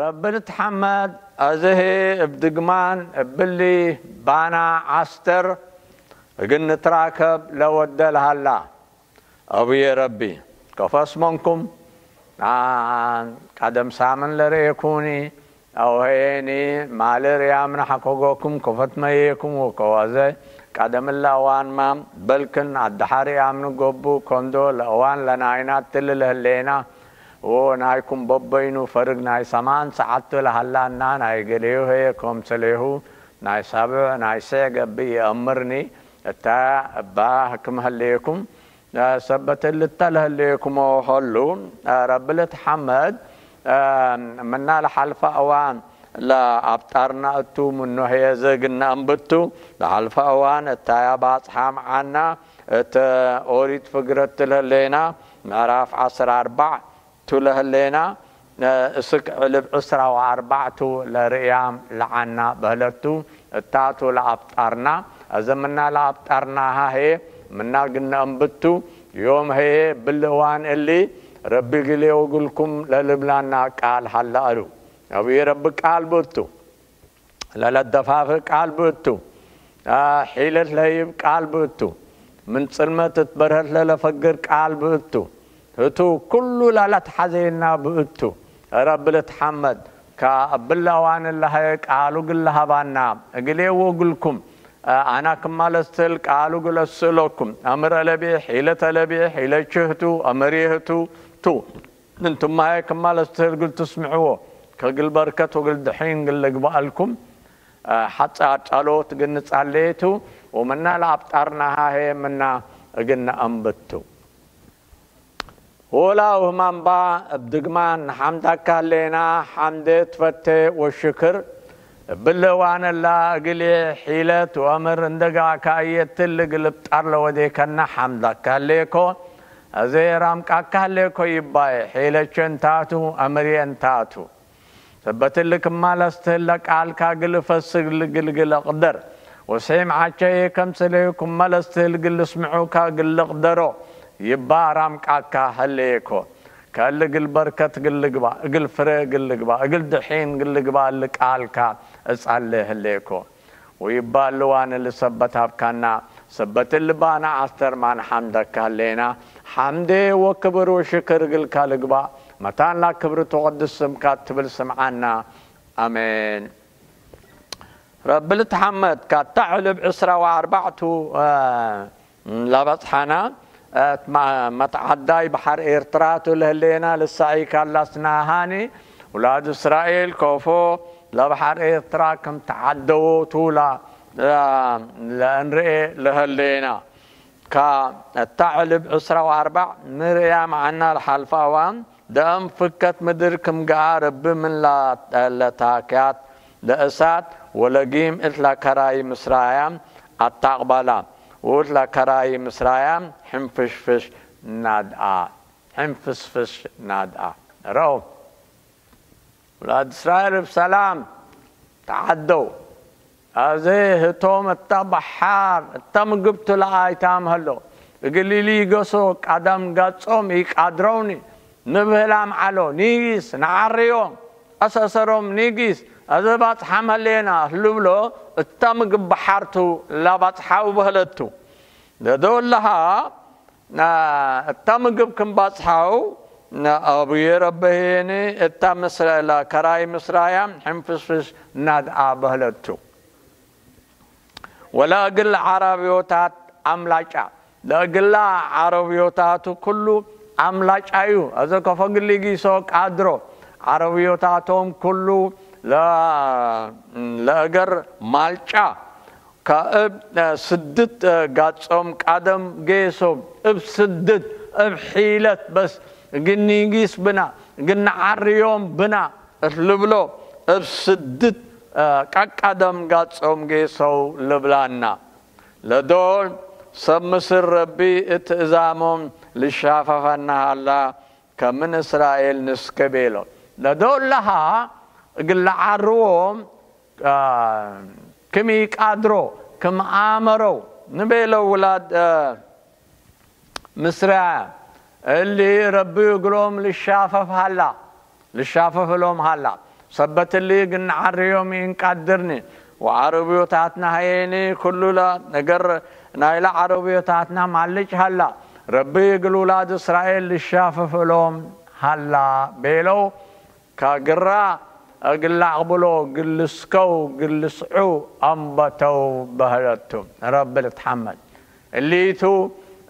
እብል ትሓመድ፣ እዝህ እብ ድግማን እብሊ ባና ዓስተር እግል ንትራከብ ለወደል ሀላ። አቡዬ ረቢ፣ ከፈስ መንኩም፣ አ፣ ቀደም ሳምን ለርኤኩኒ፣ አውሀየኒ፣ ማልር ያምና ሐኮጎኩም፣ ከፈት መየኩም ወከዋዘ፣ ቀደም እለ እዋንማ፣ በልክን አደሓሪ ያምኒ ጎቡ፣ ከንዶ ለእዋን ለናይና ትል ለህሌና፣ ዎ ናይኩም በበይኑ ፈርግ ናይ ሰማን ሰዓት ለሀላና፣ ናይ ገሌሁ ሀየ ከምሰሌሁ፣ ናይ ሳብዕ ናይ ሴዕ ገብእ ይአምርኒ፣ እታ እባ ህክም ህሌኩም፣ ሰበት እልተ ለህሌኩሞ ሀሉ፣ ረቢ ልትሐመድ፣ ምና ለሓልፈ እዋን ለአብጣርና እቱ፣ ምኑ ህየ ዘግነ አንብቱ፣ ለሓልፈ እዋን እታያ ባጽሓ መዓና፣ እት ኦሪት ፍግረት ለህሌና፣ ምዕራፍ ዐስር አርባዕ ቱ ለህሌና፣ እስክ ዕልብ ዕስራ ወአርባዕቱ ለርእያም ለዓና በህለቱ፣ እታቱ ለአብጣርና፣ እዘ ምና ለአብጣርናሃ ህየ ምና ግነ እንብቱ፣ ዮም ህየ ብልእዋን እሊ ረቢ ግሌ ወግልኩም ለልብላና ቃል ሀላ እሉ። አቡዬ ረቢ ቃል ብእቱ። ለለደፋፍእ ቃል ብእቱ፣ አ፣ ሒለት ለህይብ ቃል ብእቱ፣ ምን ጽልመት እት በርሀት ለለፈግር ቃል ብእቱ፣ ህቱ ኩሉ ለለትሐዜና ብእቱ፣ ረቢ ልትሐመድ፣ ከእብለ አዋን ለሀየ ቃሉ ግል ለሀባና፣ እግሌ ወእግልኩም፣ አ፣ አና ክማ ለስትህል ቃሉ ግል እስእለኩም፣ አምር አለብየ፣ ሒለት አለብየ፣ ሒለች ህቱ፣ አመርየ ህቱ፣ ቱ። እንትማየ ክማ ለስትህል ግል ትስምዕዎ፣ ከግል በርከት ወግል ድሒን ግል ልግባአልኩም፣ ሐጻር ጸሎት ግን ጸሌቱ ወምና ለአብጣርናሃ ሄ ምና እግነ አንብቱ። ሆላ ውህማምባ እብ ድግማን ሐምዳካ ህሌና፣ ሐምዴ ትፈቴ ወሽክር እብለ እዋን እላ እግልዬ ሒለት ወአምር እንደ ጋዕካ እየትል እግል እብጣር ለወዴከና ሐምዳካ ህሌኮ። አዜ ራምቃካ ህሌኮ ይባዬ፣ ሒለቼ እንታቱ፣ አምርዬ እንታቱ። ሰበት እሊ ክማ ለስትህለ ቃልካ እግል እፈስግ እግል እቅደር፣ ወስሒም ዐቸዬ ከምሰለዩ ክመ ለስትህል እግል ልስምዑካ እግል ልቅደሮ ይባ ራምቃካ ህሌኮ። ከእሊ እግል በርከት እግል ልግባእ፣ እግል ፍሬ እግል ልግባእ፣ እግል ድሒን እግል ልግባእ እሊ ቃልካ እጸሌ ህሌኮ። ወይባ እሊ ዋን እሊ ሰበት ሀብካና፣ ሰበት እሊ ባና ዐስተር ማን ሐምደካ ህሌና፣ ሐምዴ ወክብር ወሽክር እግልካ ልግባእ፣ መታን ላክብር ትቀድስ ስምካ ትብል ስምዓና። አሜን። ረቢ ልትሐመድ፣ ካታ ዕልብ ዕስራ ወአርባዕቱ፣ አ፣ ለበጽሐና፣ አ፣ መ-፣ መትዓዳይ በሐር ኤርትራቱ ለህሌና ልሳኢካ ላስናሃኒ፣ ውላድ እስራኤል ኮፎ ለበሐር ኤርትራ ከም ተዓደዎ ቱላ፣ አ፣ ለእንርኤ ለህሌና። ካታ ዕልብ ዕስራ ወአርባዕ ምርእያ መዓና ለሓልፋ እዋን፣ ደአም ፍከት ምድር ክም ገኣ ረቢ ምን ለታክያት ለእሳት ወለጊም እት ለከራይ ምስራያም አታቅባላ፣ ወእት ለከራይ ምስራያም ሕንፍሽፍሽ ናድአ፣ ሕንፍስፍሽ ናድአ። ረው ውላድ እስራኤል እብ ሰላም ተዓደው። አዜ ህቶም እተ በሓር እተ ምግብቱ ለአይታም ሀሎ። እግል ኢሊገሶ ቀደም ገጾም ኢቃድረውኒ ንብህላም ዐሎ። ኒጊስ ነዓርዮም፣ አሰሰሮም ኒጊስ፣ አዜ ባጽሓም ሀሌና ልብሎ እተ ምግብ በሓርቱ ለባጽሓው በህለቱ። ለዶለሃ እታ ምግብ ክም ባጽሓው፣ አቡዬ ረበ ህየኒ እታ ምስረ-፣ ለከራይ ምስራያ ሕንፍስፍስ ናድአ በህለቱ። ወለእግል ዓረብዮታት አምላጫ፣ ለእግላ ዓረብዮታቱ ኩሉ አምላጫዩ፣ አዘ ከፎ እግል ሊጊሶ ቃድሮ፣ ዓረብዮታቶም ኩሉ ለ-፣ ለእገር ማልጫ፣ ከእብ ስድት ጋጾም ቀደም ጌሶም እብ ስድት እብ ሒለት በስ እግል ኒጊስ ብና እግል ነዓርዮም ብና እት ልብሎ እብ ስድት ቀቀደም ጋጾም ጌሰው ልብላና። ለዶል ሰብ ምስል ረቢ እት እዛሞም ልሻፈፈና ሀላ። ከምን እስራኤል ንስከ ቤሎ። ለዶለሃ እግል ለዓርዎም፣ አ፣ ክም ኢቃድሮ፣ ክም አመረው ንቤሎ ውላድ፣ አ፣ ምስራያ። እሊ ረቢ እግሎም ልሻፈፍ ሀላ፣ ልሻፈፍ እሎም ሀላ። ሰበትሊ ግን ዓርዮም ይንቃድርኒ ወዓረብዮታትና ሃየኒ ኩሉላ ነገር ናይላ ዓረብዮታትና ማልጭ ሃላ ረቢ እግል ውላድ እስራኤል ልሻፍፍሎም ሃላ ቤለው። ከግራ እግል ላዕብሎ ግልስከው ግልስዑ ኣንበተው በህለቱ። ረቢ ልትሓመድ እሊቱ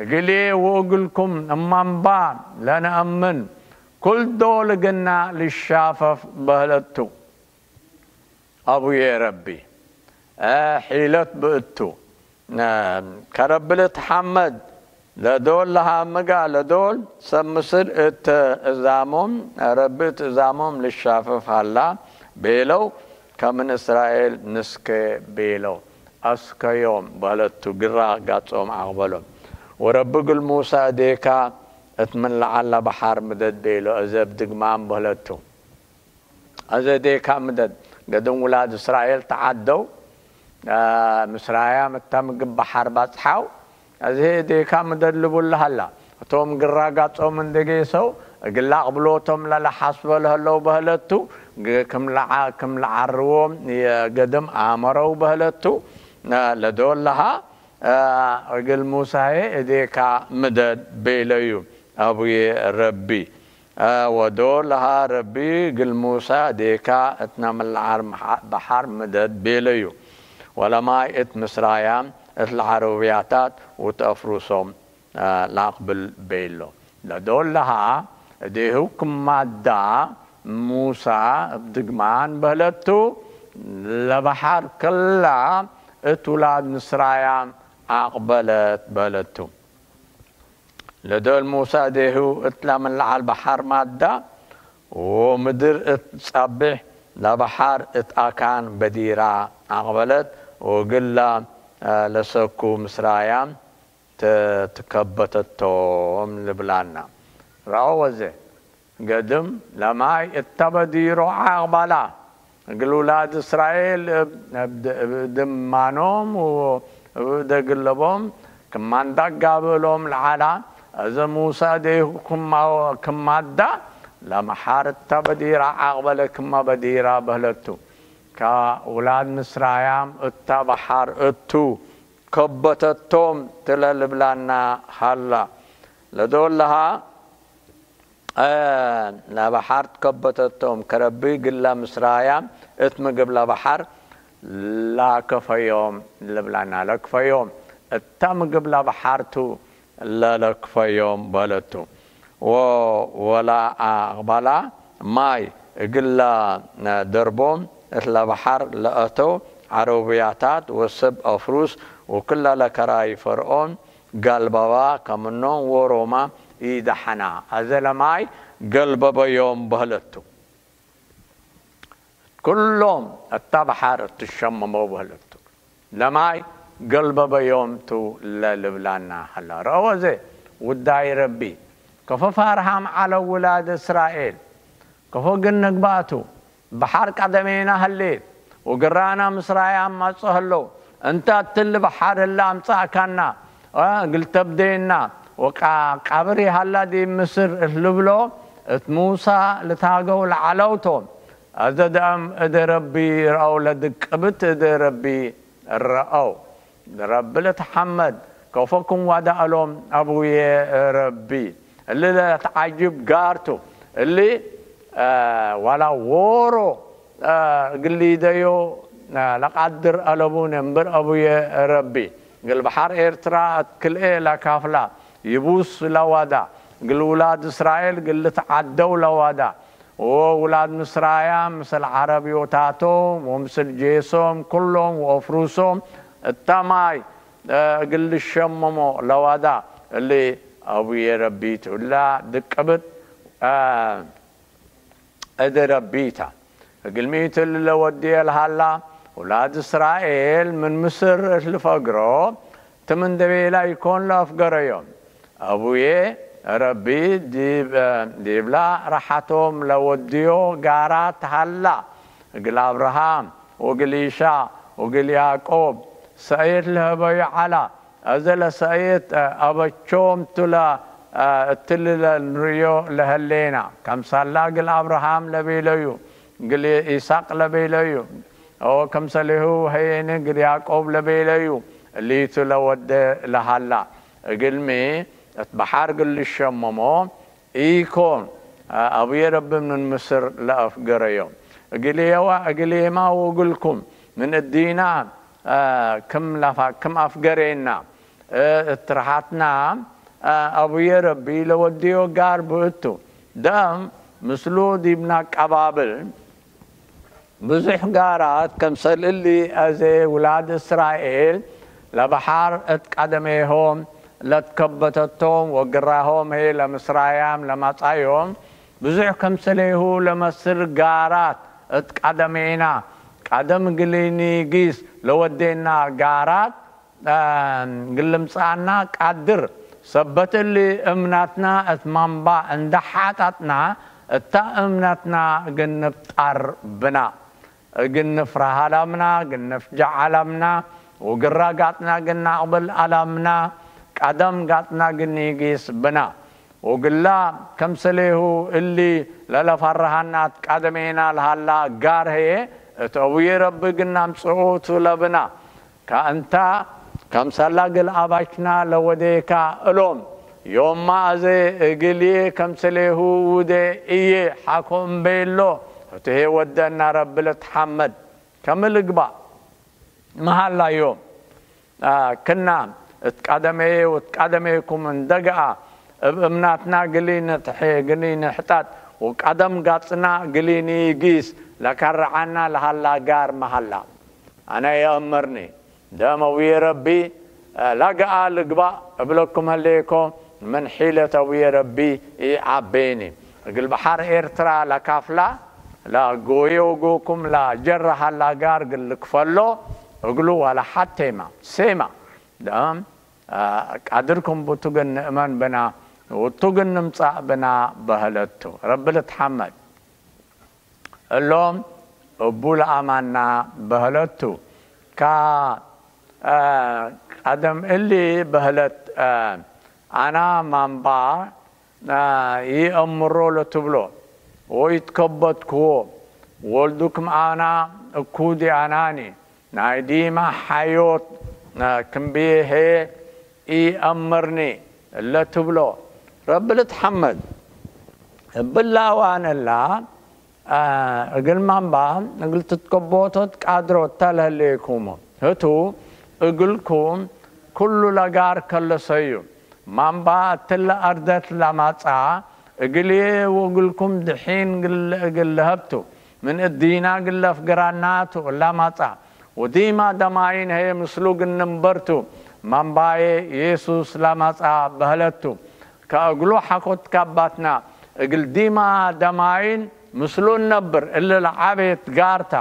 እግሌ ወእግልኩም እማንባ ለነእምን ኩልዶ ልግና ልሻፈፍ በህለቱ። ኣቡዬ ረቢ ሒለት ብእቱ ከረብልት ሓመድ ለዶል ለሃምጋ ለዶል ሰብ ምስል እት እዛሞም ረቢ እት እዛሞም ልሻፍፍ ሃላ ቤለው። ከምን እስራኤል ንስከ ቤለው ኣስከዮም በህለቱ ግራ ጋጾም ኣቕበሎም። ወረቢ ግል ሙሳ እዴካ እት ምን ለዓላ በሓር ምደድ ቤሎ እዘብ ድግማም በህለቱ። እዚ እዴካ ምደድ ገድም ውላድ እስራኤል ተዓደው ምስራያም እታ ምግብ በሓር ባጽሓው። እዚ እዴካ ምደድ ልቡላ ሃላ እቶም ግራ ጋጾም እንደጌሰው እግላቕ ብሎቶም ለለሓስበ ለህለው በህለቱ ክም ለዓርዎም የገድም ኣመረው በህለቱ። ለዶለሃ እግል ሙሳሄ እዴካ ምደድ ቤለዩ። ኣቡዬ ረቢ ወዶ ለሃ ረቢ ግል ሙሳ ዴካ እት ናምልዓር በሓር ምደድ ቤለዩ። ወለማይ እት ምስራያም እት ለዓረብያታት ውት ኣፍሩሶም ላቅብል ቤሎ። ለዶ ለሃ እዴሁ ክማዳ ሙሳ እብ ድግማን በህለቱ ለበሓር ክላ እት ውላድ ምስራያም ኣቅበለት በህለቱ። ለዶል ሙሳ እዴሁ እት ላምን ለዓል በሓር ማዳ ወምድር እት ጸቢሕ ለበሓር እት ኣካን በዲራ ኣቅበለት ወግላ ለሰኩ ምስራያም ትከበተቶም ልብላና። ረኦ ወዘ ገድም ለማይ እተ በዲሮ ዓቅባላ እግል ውላድ እስራኤል እብ ድማኖም ወእብ እደ ግለቦም ክማንዳ ጋብእሎም ለዓላ። እዘ ሙሳ እዴሁ ክማዳ ለመሓር እተ በዲራ ዓቅበለ ክመ በዲራ በህለቱ። ከውላድ ምስራያም እተ በሓር እቱ ከበተቶም ትለ ልብላና ሃላ። ለዶለሃ ለበሓር ትከበተቶም ከረቢ ግላ ምስራያም እት ምግብ ለበሓር ላከፈዮም ልብላና። ለክፈዮም እታ ምግብ ለበሓርቱ ለለክፈዮም በለቱ። ወላ ኣቅባላ ማይ እግላ ደርቦም እት ለበሓር ለአተው ዓረብያታት ወሰብ አፍሩስ ወክላ ለከራይ ፈርዖን ጋልበባ ከምኖም ወሮማ ኢደሐና። አዘ ለማይ ገልበበዮም በህለቱ። ኩሎም እታ በሓር እትሸመመው በህለቱ። ለማይ ገልበበዮም ቱ ለልብላና ሀላ። ረአወ ዘ ውዳይ ረቢ ከፎ ፋርሃም ዐለ ውላድ እስራኤል። ከፎ ግን ነግባእቱ በሓር ቀደሜና ህሌት ወግራና ምስራያ ኣማጽእ ህለው። እንተ እትሊ በሓር ህለ ኣምጻእካና እግል ተብደየና ወቃብር ይሃላ ዲብ ምስር እት ልብሎ እት ሙሳ ልታገው ለዓለውቶም። አዘ ደአም እደ ረቢ ረአው ለድቅብት እደ ረቢ ረአው። ረቢ ልትሐመድ ከፎ ክም ዋዳእሎም አቡዬ ረቢ። እሊ ለትዓጅብ ጋርቱ እሊ ዋላ ዎሮ እግል ሊደዮ ለቃድር አለቡን እምብር አቡዬ ረቢ። እግል በሓር ኤርትራ እት ክልኤ ለካፍላ ይቡስ ለዋዳ እግል ውላድ እስራኤል እግል ልትዓደው ለዋዳ ወውላድ ምስራያም ምስል ዓረብዮታቶም ወምስል ጄሶም ኩሎም ወአፍሩሶም እታ ማይ እግል ልሸመሞ ለዋዳ እሊ አቡዬ ረቢት እላ ድቅብት እደ ረቢታ። እግልሚት እሊ ለወድየ ለሃላ ውላድ እስራኤል ምን ምስር እት ልፈግሮ ትም እንደ ቤላ ኢኮን ለአፍገረዮም። አቡዬ ረቢ ዲብ ዲብላ ረሓቶም ለወድዮ ጋራት ሃላ። እግል አብርሃም ወእግል ኢሻቅ ወእግል ያዕቆብ ሰእየት ለሀበዩ ዐላ። አዘ ለሰእየት አበቾም ቱ እትሊ ለንርእዮ ለሀሌና። ከምሳላ እግል አብርሃም ለቤለዩ ግል ኢሳቅ ለቤለዩ፣ ኦ ከምሰሌሁ ሀየኒ ግል ያዕቆብ ለቤለዩ፣ ሊቱ ለወደ ለሃላ፣ እግልሚ እት በሓር ግል ልሸመሞ ኢኮን፣ አቡየ ረቢ ምን ምስር ለአፍገረዮም፣ እግልየዋ እግልየማ ወግልኩም ምን እዲና ክም ላፋ ክም አፍገሬና፣ እት ርሓትና አቡየ ረቢ ለወድዮ ጋር ብእቱ፣ ደም ምስሉ ዲብና ቀባብል ብዙሕ ጋራት ከምሰል እሊ አዜ ውላድ እስራኤል ለበሓር እት ቀደሜሆም ለትከበተቶም ወግራሆም ሄ ለምስራያም ለማጻዮም ብዙሕ ከምሰሌሁ ለመስል ጋራት እት ቀደሜና ቀደም ግሊ ኒጊስ ለወዴና ጋራት ግልምጻና ቃድር ሰበት እሊ እምናትና እት ማንባ እንዳ ሓጣጥና እታ እምናትና እግል ንብጣር ብና። እግል ንፍራህ አላምና፣ እግል ንፍጃዕ አላምና፣ ወግራ ጋጥና እግል ናቅብል አላምና፣ ቀደም ጋጥና እግል ኒጊስ ብና። ወግላ ከምሰሌሁ እሊ ለለፈራሃና እት ቀደሜና ለሃላ ጋር ህዬ እት አቡዬ ረቢ እግል ናምጽኡ ቱ ለብና። ከእንታ ከምሰላ እግል አባችና ለወዴካ እሎም፣ ዮማ አዜ እግልዬ ከምሰሌሁ ውዴ እዬ ሓኮ እምቤሎ፣ ህቱ ህዬ ወደና ረቢ ልትሓመድ። ከም ልግባእ መሃላዮም ክና እት ቀደሜዬ ወእት ቀደሜኩም እንደገኣ እብ እምናትና እግል ንትሐ እግል ንሕጠጥ ወቀደም ገጽና እግል ንኢጊስ ለከርዐና ለሀላ ጋር መሀላ። አነ የእምርኒ ደም አቡዬ ረቢ ለገኣ ልግባእ እብለኩም ህሌኮ ምን ሒለት አቡዬ ረቢ ኢዐቤኒ። እግል በሐር ኤርትራ ለካፍላ ለጎየ ወጎኩም ለጀረ ሀላ ጋር እግል ልክፈሎ እግሉ ወላ ሐቴማ ሴማ ደም ቃድርኩም ብቱ ግን ንእመን ብና ወቱ ግን ንምጻእ ብና በህለቱ። ረቢ ልትሐመድ። እሎም እቡ ለአማና በህለቱ። ካ ቀደም እሊ በህለት አና ማንባ ይአምሮ ለትብሎ ወይትከበትክዎ ወልዱክም አና እኩ ዲአናኒ ናይ ዲማ ሐዮት ክምብዬ ህዬ ኢአምርኒ እለ ትብሎ ረቢ ልትሐመድ። እብላ አዋን እላ እግል ማንባ እግል ትትከቦቶ ትቃድሮ እተ ለህሌኩሞ ህቱ እግልኩም ኩሉ ለጋር ከለሰዩ ማንባ እትለ አርደት ለማጽአ እግልዬ ወእግልኩም ድሒን እግል ለሀብቱ ምን እዲና እግል ለፍገራናቱ ለማጽአ ወዲማ ደማይን ህዬ ምስሉ እግል ንንበርቱ ማንባዬ የሱስ ለማጽአ በህለቱ። ከእግሉ ሐኮት ካባትና እግል ዲማ ደማይን ምስሉ እነብር እሊ ለዐቤት ጋርታ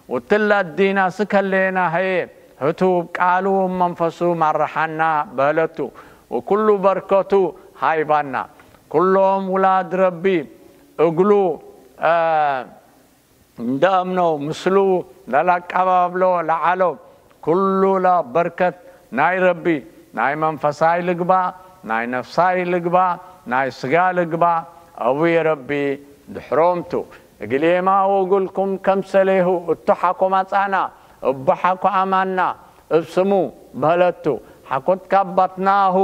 ወትለ እዲና ስከሌና ህዬ ህቱ እብ ቃሉ ወመንፈሱ ማርሐና በህለቱ ወኩሉ በርከቱ ሃይባና። ኩሎም ውላድ ረቢ እግሉ እንደ አምነው ምስሉ ለለአቀባብሎ ለዐለው ኩሉ ለበርከት ናይ ረቢ ናይ መንፈሳይ ልግባእ ናይ ነፍሳይ ልግባእ ናይ ስጋ ልግባእ አቡዬ ረቢ ድሕሮምቱ። እግሌማ ወእግልኩም ከምሰሌሁ እቱ ሐኮ ማጻና እቡ ሐኮ አማና እብ ስሙ በህለቱ ሐኮት ካባትናሁ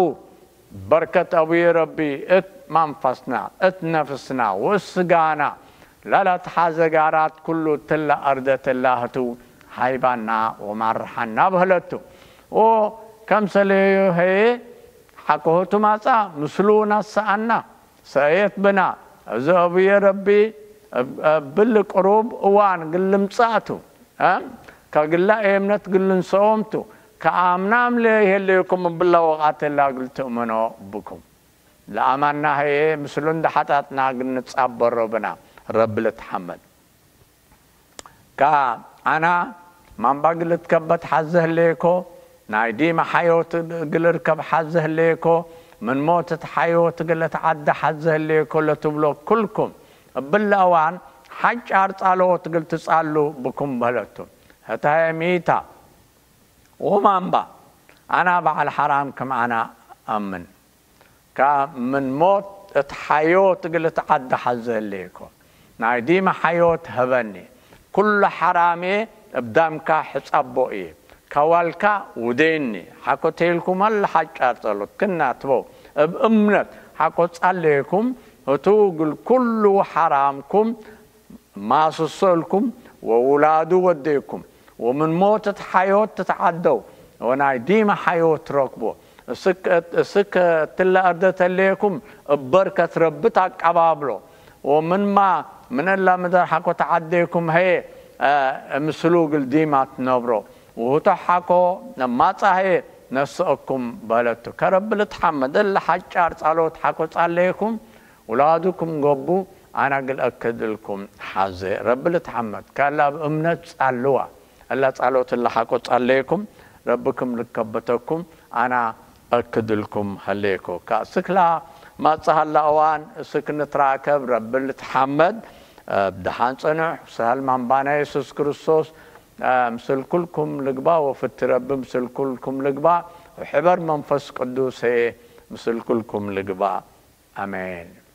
በርከት አቡዬ ረቢ እት መንፈስና እት ነፍስና ወእት ስጋና ለለትሐዘ ጋራት ኩሉ እትለ አርደት እላ ህቱ ሃይባና ወማርሐና በህለቱ። ወከምሰሌሁ ህዬ ሐቆ ህቱ ማጻ ምስሉ ነሰአና ሰእየት ብና። እዚ አቡዬ ረቢ እብ-፣ እብል ቅሩብ እዋን እግል ልምጻእቱ። ከግላ ኤምነት እግል ልንሰኦምቱ። ከአምናም ለይሄሌኩም እብላ ወቃት እላ እግል ትእምኖ ብኩም። ለአማና ህዬ ምስሉ እንደ ሐጣጥና እግል ንጻበሮ ብና። ረቢ ልትሐመድ። ከአና ማንባ እግል እትከበት ሐዘ ህሌኮ፣ ናይ ዲመ ሐዮት እግል እርከብ ሐዘ ህሌኮ፣ ምን ሞት እት ሐዮት እግል እትዓደ ሐዘ ህሌኮ ለትብሎ ኩልኩም፣ እብለ እዋን ሐጫር ጻሎት እግል ትጻሉ ብኩም በህለቱ። ህተ ህዬ ሚታ ወማንባ አና በዐል ሐራም ክም አና አምን። ከምን ሞት እት ሐዮት እግል እትዓደ ሐዘ ህሌኮ። ናይ ዲማ ሓዮት ሀበኒ። ኩሉ ሓራሜ እብ ዳምካ ሕጻቦ እየ። ካዋልካ ውደየኒ። ሓኮተይልኩም ኣለ ሓጫር ጸሎት ክናትበው። እብ እምነት ሓኮ ጻለየኩም። እቱ ግል ኩሉ ሓራምኩም ማስሶልኩም ወውላዱ ወደይኩም። ወምን ሞት እት ሓዮት ትትዓደው። ወናይ ዲማ ሓዮት ትረክቦ። እስክ እትለ እርደተለየኩም እበርከት ረብት ኣቀባብሎ። ወምንማ ምነላ ምደር ሓኮ ተዓደይኩም ሀየ ምስሉ ግል ዲማ ትነብሮ። ውህቶ ሓኮ ነማጻ ሀየ ነስአኩም በለቱ። ከረብል ትሓመድ እለ ሓጫር ጻሎት ሓኮ ጻለየኩም ውላዱኩም ገቡ ኣና ግል እክድልኩም ሓዘ። ረብል ትሓመድ ካላ ብእምነት ጻልዋ። እላ ጻሎት እለ ሓቆ ጻለይኩም ረብኩም ልከበተኩም ኣና እክድልኩም ሀሌኮ። ካ ስክላ ማጽሃላ እዋን ስክ ንትራከብ ረብል ትሓመድ። ብደሓን ጸንሕ። ሰህል ማንባና የሱስ ክርስቶስ ምስል ኩልኩም ልግባ። ወፍቲ ረቢ ምስል ኩልኩም ልግባ። ወሕበር መንፈስ ቅዱስ ምስል ኩልኩም ልግባ። ኣሜን።